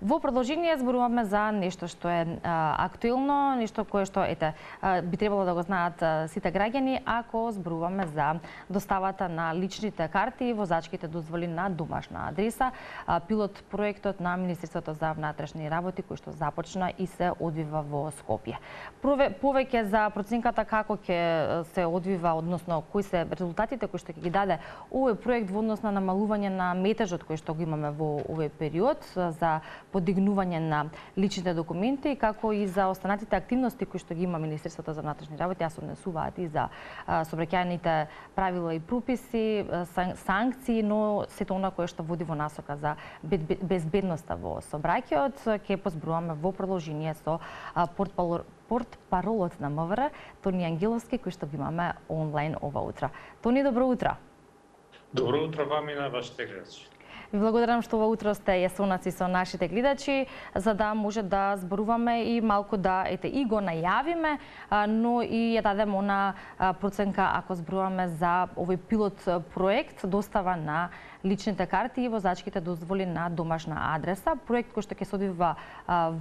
Во продолжение зборуваме за нешто што е актуелно, нешто кое што би требало да го знаат сите граѓани ако зборуваме за доставата на личните карти и возачките дозволи на домашна адреса. Пилот проектот на Министерството за внатрешни работи кој што започна и се одвива во Скопје. Повеќе за проценката како ќе се одвива, односно кои се резултатите кои што ќе ги даде овој проект во однос на намалување на метежот кој што го имаме во овој период за подигнување на личните документи, како и за останатите активности кои што ги има Министерството за внатрешни работи, а се однесуваат и за сообраќајните правила и прописи, санкции, но сето она кое што води во насока за безбедноста во сообраќајот, ќе позборуваме во продолжение со портпаролот на МВР Тони Ангеловски, кој што го имаме онлайн ова утро. Тони, добро утро. Добро утро вам и на вашите гледачи. Ви благодарам што ова утро сте јасонаци со нашите гледачи, за да може да зборуваме и малку да и го најавиме, но и ја дадем она проценка ако зборуваме за овој пилот проект достава на личните карти и возачките дозволи на домашна адреса. Проект кој што ќе се одвива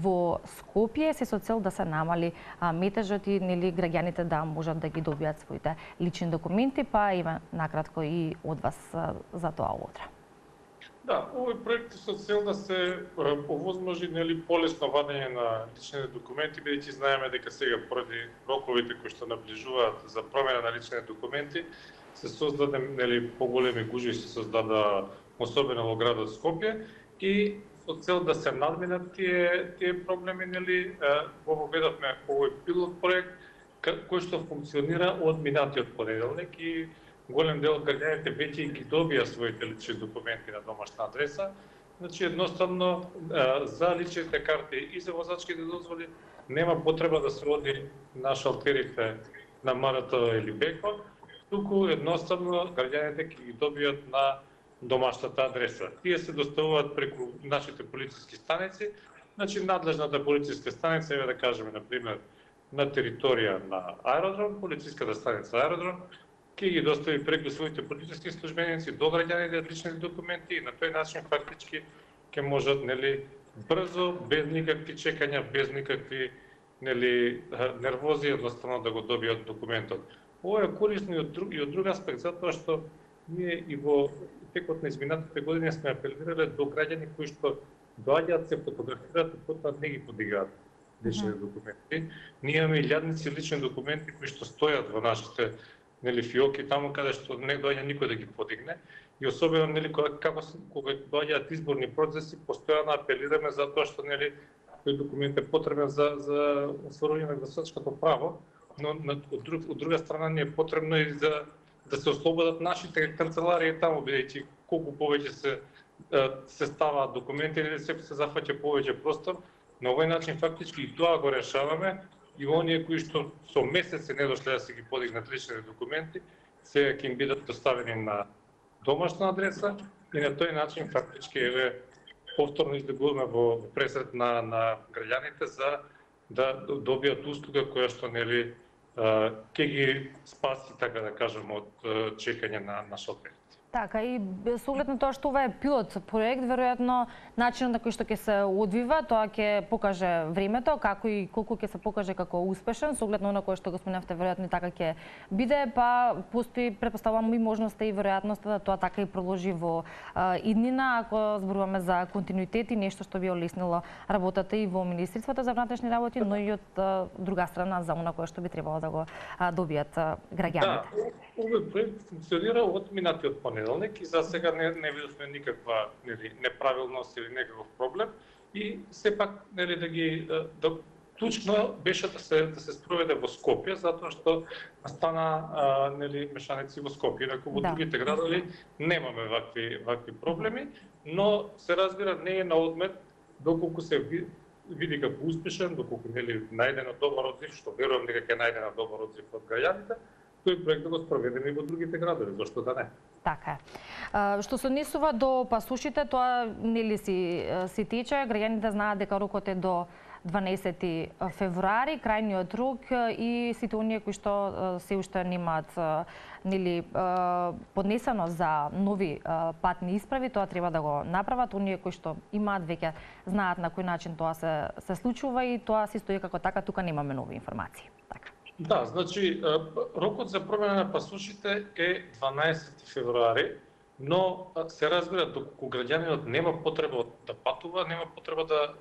во Скопје се со цел да се намали метежот и граѓаните да можат да ги добијат своите лични документи, па има накратко и од вас за тоа утро. Да, овој проект е со цел да се овозможи полесно вадење на личните документи, бидејќи знаеме дека сега поради роковите кои што наближуваат за промена на личните документи се создаде поголеми гужви се создада особено во градот Скопје и со цел да се надминат тие проблеми го воведовме овој пилот проект кој што функционира од минатиот понеделник и голем дел од граѓаните веќе ги добија своите лични документи на домашна адреса. Значи едноставно за личните карти и за возачките дозволи нема потреба да се оди на шалтерите на МРТ или БЕКО, туку едноставно граѓаните ќе ги добијат на домашната адреса. Тие се доставуваат преку нашите полициски станици, значи надлежната полициска станица, еве да кажеме на пример на територија на аеродром, полициската станица аеродром ќе ги достави преку своите полициски службеници до граѓаните личните документи и на тој начин фактички ќе можат брзо, без никакви чекања, без никакви нервози, едноставно да го добијат документот. Ова е корисно и од друг аспект, затоа што ние и во текот на изминатите години сме апелирале до граѓани кои што доаѓаат, се фотографираат и потоа не ги подигаат лични документи. Ние имаме илјадници лични документи кои што стојат во нашите фиоки таму каде што не доаѓа никој да ги подигне и особено кога доаѓаат изборни процеси постојано апелираме за тоа што тој документ е потребен за остварување на гласачкото право, но од друга страна не е потребно и да се ослободат нашите канцеларии таму, бидејќи колку повеќе се ставаат документи или се зафаќа повеќе простор. На овој начин фактички и тоа го решаваме и оние кои што со месеци не дошле да се ги подигнат личните документи, сега ќе им бидат доставени на домашна адреса и на тој начин фактички повторно излегуваме во пресред на граѓаните за да добијат услуга која што ќе ги спаси, така да кажем, од чекање на шоферите. Така, и со оглед на тоа што ова е пилот проект, веројатно начинот на кој што ќе се одвива, тоа ќе покаже времето, како и колку ќе се покаже како успешен, со оглед на она кое што го споменавте, веројатно и така ќе биде, па постои, претпоставувам, и можноста и веројатноста да тоа така и продолжи во иднина, ако зборуваме за континуитет и нешто што би олеснило работата и во Министерството за внатрешни работи, но и од друга страна за она кое што би требало да го добијат граѓаните. Да, овој проект функционира од минатиот понеделник и за сега не видовме никаква неправилност или некаков проблем и сепак клучно беше да се спроведе во Скопје, затоа што стана мешаници во Скопје, инаку во другите градови немаме вакви проблеми, но се разбира не е на одмет доколку се види како успешен, доколку најдено добар одзив, што верувам дека ќе најдено добар одзив од граѓаните, тој проект да го спроведеме и во другите градови, зашто да не? Така е. Што се однесува до пасушите, тоа си тече, граѓаните знаат дека рокот е до 12 февруари, крајниот рок и сите оние кои што се уште немаат поднесено за нови патни исправи, тоа треба да го направат. Оние кои што имаат веќе знаат на кој начин тоа се случува и тоа се стои како така, тука немаме нови информации. Така. Да, значи рокот за промена на пасошите е 12 февруари, но се разбира доколку граѓанинот нема потреба да патува, нема потреба да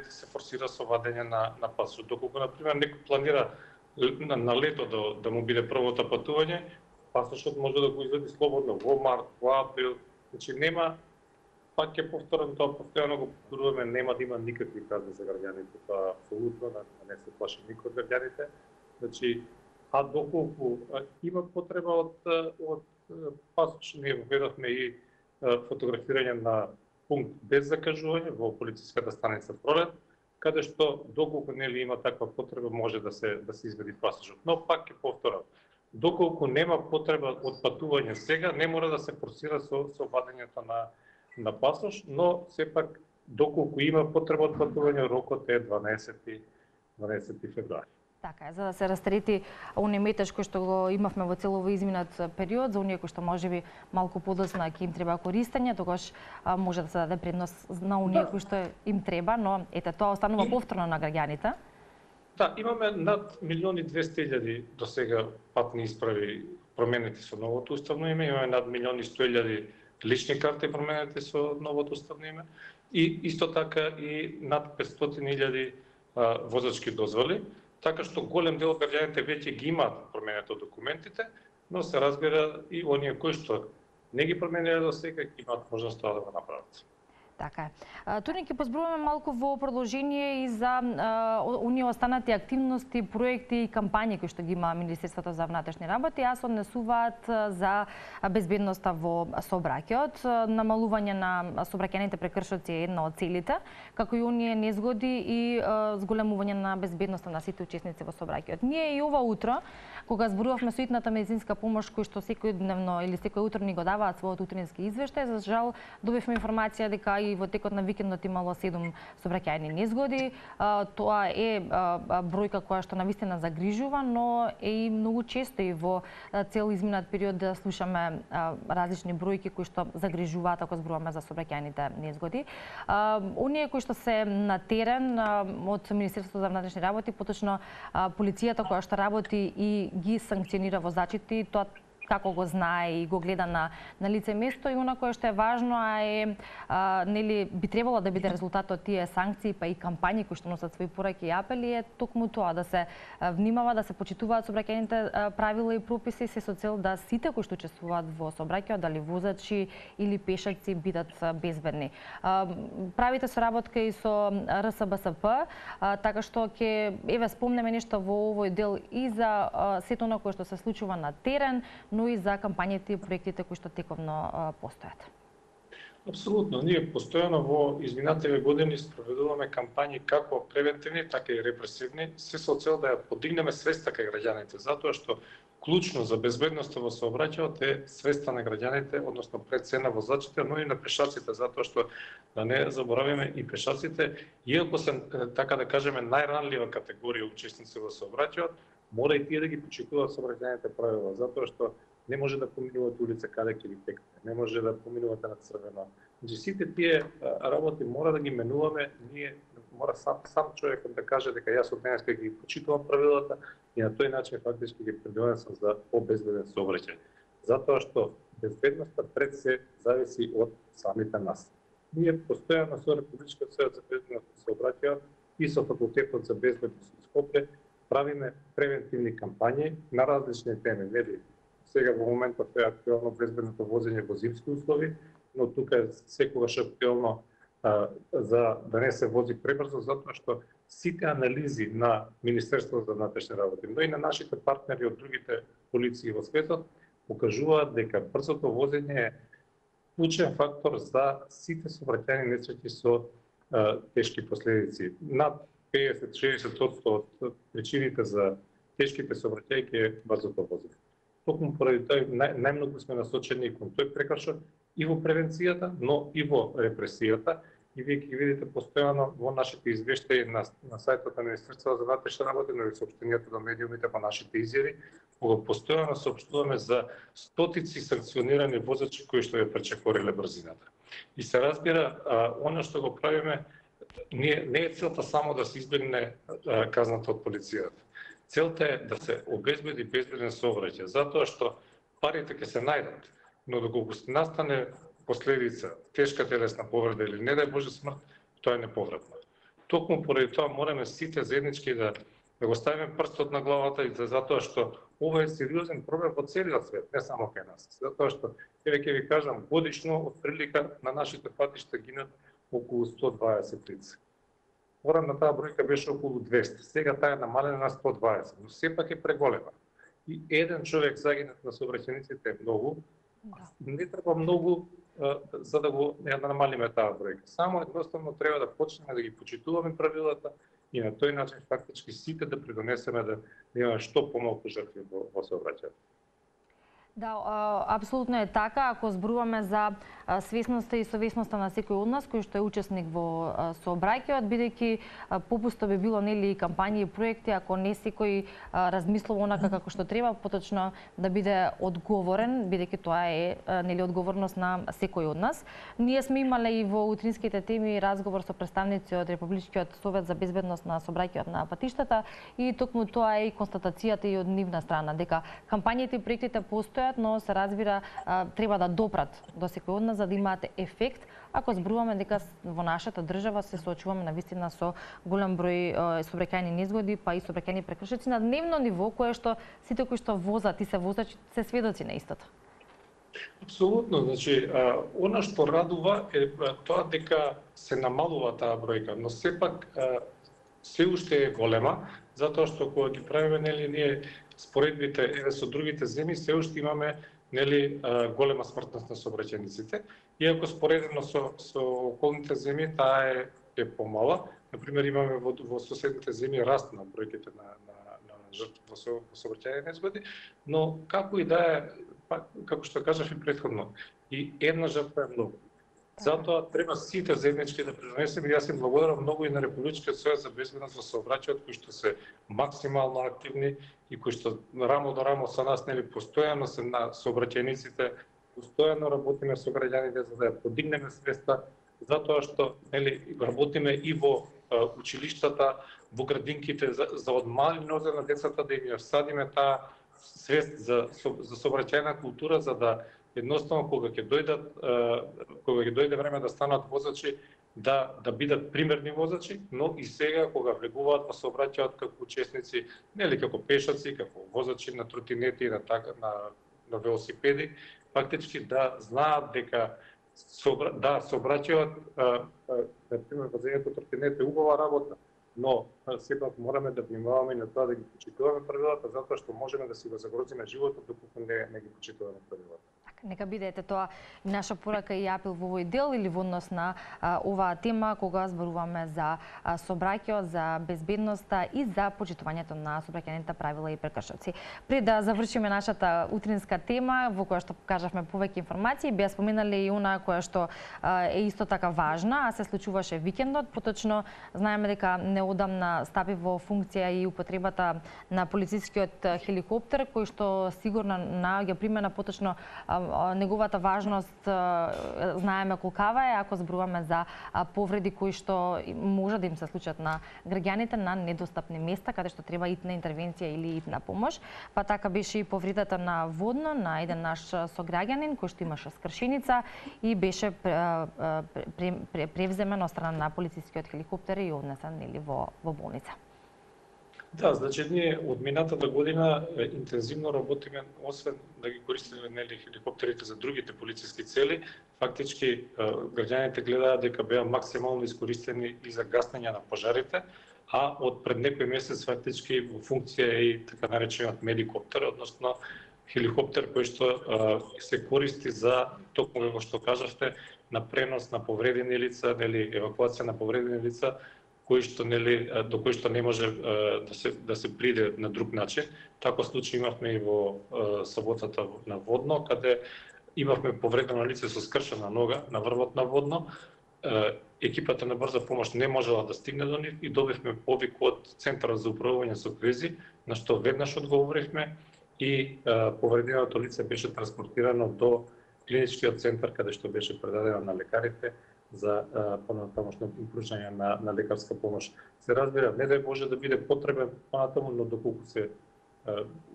се форсира со вадење на пасош. Доколку на пример некој планира на лето да му биде првото патување, пасошот може да го извади слободно во март, во април, значи нема, пак ќе повторам тоа, постојано го повторуваме, нема да има никакви казни за граѓаните, тоа апсолутно, не се плаши никој од граѓаните. Значи, а доколку има потреба од пасош, ние введовме и фотографирање на пункт без закажување во полициската станица Пролет, каде што доколку нели има таква потреба може да се извади пасошот. Но пак ќе повторам, доколку нема потреба од патување сега, не мора да се форсира со вадењето на пасош, но сепак доколку има потреба од патување, рокот е 12 февруари. Така е, за да се растрети оној метеж кој што го имавме во целово изминат период, за оние кои што можеби малку подоцна ќе им треба користење, тогаш може да се даде предност на оние кои што им треба, но ете тоа останува повторно на граѓаните. Да, имаме над 1.200.000 до сега патни исправи променети со новото уставно име, имаме над 1.100.000 лични карти променети со новото уставно име и исто така и над 500.000 возачки дозволи. Така што голем дел од граѓаните веќе ги имаат променето документите, но се разбира и оние кои што не ги промениле до сега имаат можност тоа да го направат. Така е. Туди ќе позборуваме малку во продолжение и за оние останати активности, проекти и кампањи кои што ги има Министерството за внатрешни работи, а се однесуваат за безбедноста во сообраќајот. Намалување на сообраќајните прекршоци е една од целите, како и оние незгоди и зголемување на безбедноста на сите учесници во сообраќајот. Ние и ова утро, кога зборувавме со итната медицинска помош кој што секојдневно или секој утро ни го даваат својот утрински извештај, за жал добивме информација дека и во текот на викендот имало 7 сообраќајни незгоди. Тоа е бројка која што навистина загрижува, но е и многу често и во цел изминат период да слушаме различни бројки кои што загрижуваат ако зборуваме за сообраќајните незгоди. Оние кои што се на терен од Министерството за внатрешни работи, поточно полицијата која што работи и ги санкционира возачите, тоа како го знае и го гледа на лице место, и она кое што е важно нели би требало да биде резултат од тие санкции па и кампањи кои што носат своји пораки и апели е токму тоа да се внимава, да се почитуваат сообраќајните правила и прописи се со цел да сите кои што учествуваат во сообраќајот, дали возачи или пешаци, бидат безбедни. Правите соработка и со РСБСП, така што ќе спомнеме нешто во овој дел и за сето она кое што се случува на терен, но и за кампањите и проектите кои што тековно постојат. Апсолутно, ние постојано во изминативе години спроведуваме кампањи како превентивни, така и репресивни, се со цел да ја подигнеме свеста кај граѓаните, затоа што клучно за безбедноста во сообраќајот е свеста на граѓаните, односно пред се на возачите, но и на пешаците, затоа што да не заборавиме и пешаците, иако се така да кажеме најранлива категорија учесници во сообраќајот, мора и тие да ги почитуваат сообраќајните правила, затоа што не може да поминувате улица каде ќе ви текне, не може да поминувате на црвено. Значи сите тие работи мора да ги менуваме, ние мора сам човекот да каже дека јас од денеска ги почитувам правилата и на тој начин фактички ги придонесам за побезбеден сообраќај. Затоа што безбедноста пред се зависи од самите нас. Ние постојано со Републичкиот совет за безбедност на сообраќајот и со Факултетот за безбедност во Скопје правиме превентивни кампањи на различни теми. Нели сега во моментот е актуелно безбедното возење во зимски услови, но тука е секогаш актуелно за да не се вози пребрзо, затоа што сите анализи на Министерството за внатрешни работи, но и на нашите партнери од другите полиции во светот покажуваат дека брзото возење е клучен фактор за сите сообраќајни несреќи со тешки последици. Над 50-60% од причините за тешките сообраќајки е брзото возење. Токму поради тоа најмногу сме насочени кон тој прекршок и во превенцијата, но и во репресијата, и вие ги видите постојано во нашите извештаи на сајтот на Министерството за внатрешни работи, но и соопштенијата до медиумите по нашите изјави, кога постојано соопштуваме за стотици санкционирани возачи кои што ја пречекориле брзината. И се разбира, она што го правиме, не е целта само да се избегне казната од полицијата. Целта е да се обезбеди безбеден сообраќај, затоа што парите ќе се најдат, но доколку настане последица, тешка телесна повреда или не дај Боже смрт, тоа е неповратно. Токму поради тоа мораме сите заеднички да го ставиме прстот на главата, и затоа што ова е сериозен проблем во целиот свет, не само кај нас. Затоа што ќе ви кажам, годишно од прилика на нашите патишта гинат околу 120 лица. Порано таа бројка беше околу 200, сега таа е намалена на 120, но сепак е преголема. И еден човек загинат на сообраќајниците е многу, не треба многу за да го намалиме таа бројка. Само едноставно треба да почнеме да ги почитуваме правилата и на тој начин фактички сите да придонесеме да имаме што помалку жртви во сообраќајот. Да, апсолутно е така. Ако зборуваме за свесноста и совесноста на секој од нас кој што е учесник во сообраќајот, бидејќи попусто би било нели кампањи и проекти ако не секој размислува онака како што треба, поточно да биде одговорен, бидејќи тоа е нели одговорност на секој од нас. Ние сме имале и во утринските теми разговор со представници од Републичкиот совет за безбедност на сообраќајот на патиштата и токму тоа е и констатацијата и од нивна страна дека кампањите и проектите постојат, но се разбира треба да допрат до секој од нас за да имаат ефект, ако зборуваме дека во нашата држава се соочуваме навистина со голем број сообраќајни незгоди, па и сообраќајни прекршоци на дневно ниво, кое што сите кои што возат и се возачи се сведоци на истото. Апсолутно, значи, она што радува е тоа дека се намалува таа бројка, но сепак се уште е голема, затоа што кога ги правиме нели ние споредбите со другите земји, се уште имаме нели голема смртност на сообраќајниците, иако споредено со околните земји таа е помала. Например, имаме во соседните земји раст на бројките на жртви во сообраќајни незгоди, но како и да е, како што кажав и претходно, и една жртва е многу. Затоа треба сите заеднички да придонесеме. Јас им благодарам многу и на Републичкиот совет за безбедност во сообраќајот, кои што се максимално активни и кои што рамо до рамо со нас нели постојано се на сообраќајниците, постојано работиме со граѓаните за да ја подигнеме свеста, затоа што нели работиме и во училиштата, во градинките за од мали нозе на децата да им ја всадиме таа свест за сообраќајна култура, за да едноставно кога ќе дојде време да станат возачи, да бидат примерни возачи, но и сега кога влегуваат во сообраќајот како учесници, нели како пешаци, како возачи на тротинети, на велосипеди, фактички да знаат дека сообраќајот, например, возењето тротинет е убава работа, но сепак мораме да внимаваме и на тоа да ги почитуваме правилата, затоа што можеме да си го загрозиме животот доколку не ги почитуваме правилата. Нека биде тоа наша порака и апел во овој дел или во однос на оваа тема кога зборуваме за сообраќајот, за безбедноста и за почитувањето на сообраќајните правила и прекршоци. Пред да завршиме нашата утринска тема во која што покажавме повеќе информации, беа споменале и она која што е исто така важна, а се случуваше викендот. Поточно знаеме дека неодамна стапи во функција и употребата на полицискиот хеликоптер кој што сигурно наоѓа примена, поточно неговата важност знаеме колкава е ако зборуваме за повреди кои што може да им се случат на граѓаните на недостапни места каде што треба итна интервенција или итна помош. Па така беше и повредата на Водно на еден наш сограѓанин кој што имаше скршеница и беше превземен од страна на полицискиот хеликоптер и однесен нели во болница. Да, значи ние од минатата година интензивно работиме, освен да ги користиме нели хеликоптерите за другите полициски цели, фактички граѓаните гледаат дека беа максимално искористени и за гаснење на пожарите, а од пред некој месец фактички во функција е и така наречениот медикоптер, односно хеликоптер кој што се користи за токму како што кажавте на пренос на повредени лица, нели евакуација на повредени лица до кој што не може да се приде на друг начин. Таков случај имавме и во саботата на Водно, каде имавме повредено лице со скршена нога на врвот на Водно екипата на брза помош не можела да стигне до нив и добивме повик од Центарот за управување со кризи, на што веднаш одговоривме и повреденото лице беше транспортирано до клиничкиот центар каде што беше предадено на лекарите за понатамошно пруžање на лекарска помош. Се разбира, не дај Боже да биде потребен понатаму, но доколку се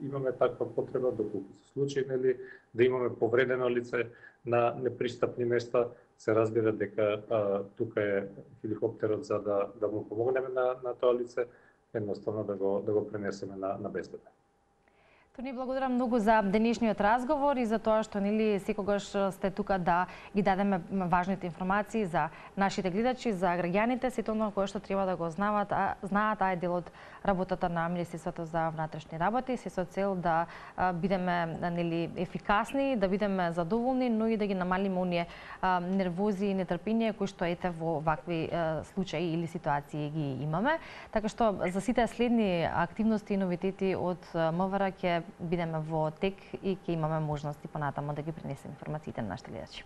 имаме таква потреба, доколку се случаи, нели, да имаме повредено лице на непристапни места, се разбира дека тука е хеликоптерот за да му помогнеме на тоа лице, едноставно да го пренесеме на безбедно. Тони, благодарам многу за денешниот разговор и за тоа што нели секогаш сте тука да ги дадеме важните информации за нашите гледачи, за граѓаните, сето оно кое што треба да го знаат, таа е дел од работата на Министерството за внатрешни работи, се со цел да бидеме нели ефикасни, да бидеме задоволни, но и да ги намалиме оние нервози и нетрпение кои што ете во вакви случаи или ситуации ги имаме. Така што за сите следни активности и новитети од МВР ќе бидеме во тек и ќе имаме можности понатамо да ги пренесеме информациите на нашите гледачи.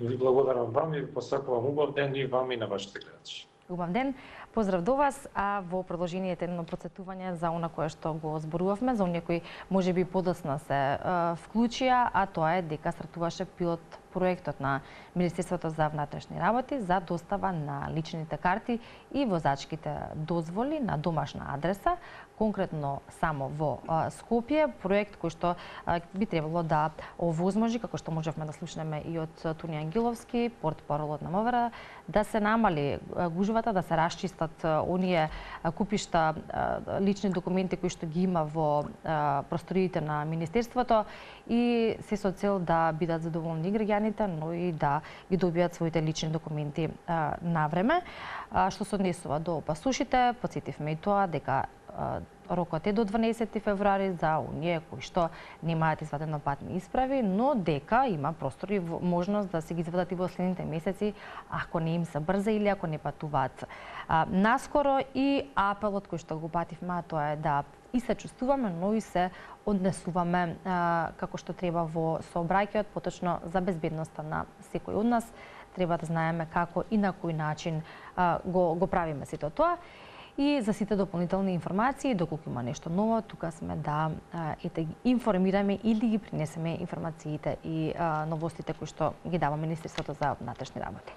Ви благодарам вам и ви посакувам убав ден и вам и на вашите гледачи. Убав ден, поздрав до вас, а во продолжението едно процетување за она кое што го зборувавме, за оние кои можеби подоцна се вклучија, а тоа е дека стартуваше пилот проектот на Министерството за внатрешни работи за достава на личните карти и возачките дозволи на домашна адреса, конкретно само во Скопје, проект кој што би требало да овозможи, како што можевме да слушнеме и од Тони Ангеловски, портпаролот на МВР, да се намали гужвата, да се расчистат оние купишта лични документи кои што ги има во просториите на Министерството и се со цел да бидат задоволни граѓаните, но и да ги добијат своите лични документи на време. Што се однесува до пасушите, потсетивме и тоа дека рокот е до 12 февруари за оние кои што немаат извадено патни исправи, но дека има простор и можност да се ги извадат и во следните месеци, ако не им се брза или ако не патуваат наскоро. И апелот кој што го пативме, тоа е да и се чувствуваме, но и се однесуваме како што треба во сообраќајот, поточно за безбедноста на секој од нас. Треба да знаеме како и на кој начин го правиме сето тоа. И за сите дополнителни информации, доколку има нешто ново, тука сме да ги информираме или ги принесеме информациите и новостите кои што ги дава Министерството за внатрешни работи.